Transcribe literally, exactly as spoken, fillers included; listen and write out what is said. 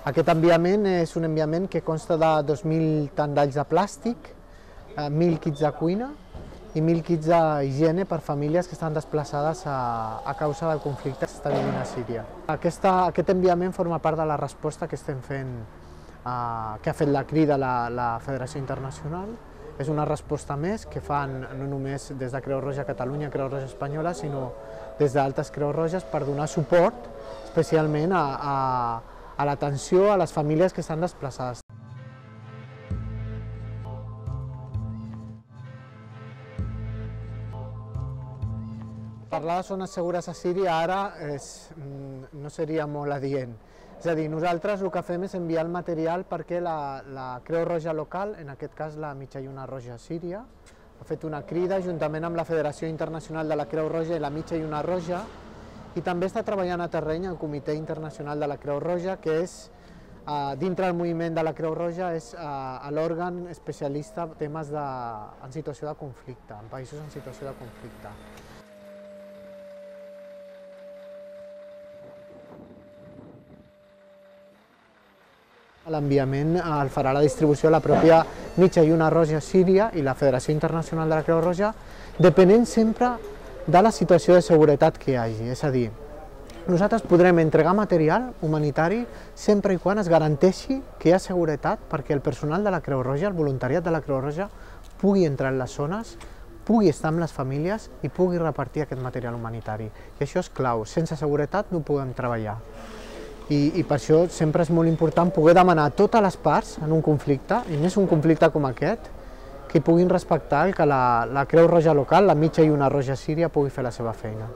Aquest enviament és un enviament que consta de dos mil tandalls de plàstic, mil kits de cuina i mil kits d'higiene per famílies que estan desplaçades a, a causa del conflicte que s'està vivint a Síria. Aquesta, aquest enviament forma part de la resposta que estem fent, eh, que ha fet la crida la, la Federació Internacional. És una resposta més que fan no només des de Creu Roja Catalunya, Creu Roja Espanyola, sinó des d'altres Creus Roges per donar suport especialment a, a, a l'atenció a les famílies que estan desplaçades. Parlar de zones segures a Síria ara és, no seria molt adient. És a dir, nosaltres el que fem és enviar el material perquè la, la Creu Roja local, en aquest cas la Mitja Lluna Roja Síria, ha fet una crida juntament amb la Federació Internacional de la Creu Roja i la Mitja Lluna Roja, i també està treballant a terreny el Comitè Internacional de la Creu Roja, que és, eh, dintre del moviment de la Creu Roja, és eh, l'òrgan especialista en temes de, en situació de conflicte, en països en situació de conflicte. L'enviament el farà la distribució de la pròpia Mitja Lluna Roja Síria i la Federació Internacional de la Creu Roja, depenent sempre de la situació de seguretat que hi hagi. És a dir, nosaltres podrem entregar material humanitari sempre i quan es garanteixi que hi ha seguretat perquè el personal de la Creu Roja, el voluntariat de la Creu Roja, pugui entrar en les zones, pugui estar amb les famílies i pugui repartir aquest material humanitari. I això és clau. Sense seguretat no podem treballar. I, i per això sempre és molt important poder demanar a totes les parts en un conflicte, i més un conflicte com aquest, que puguin respectar que la, la Creu Roja local, la Mitja Lluna Roja Síria, pugui fer la seva feina.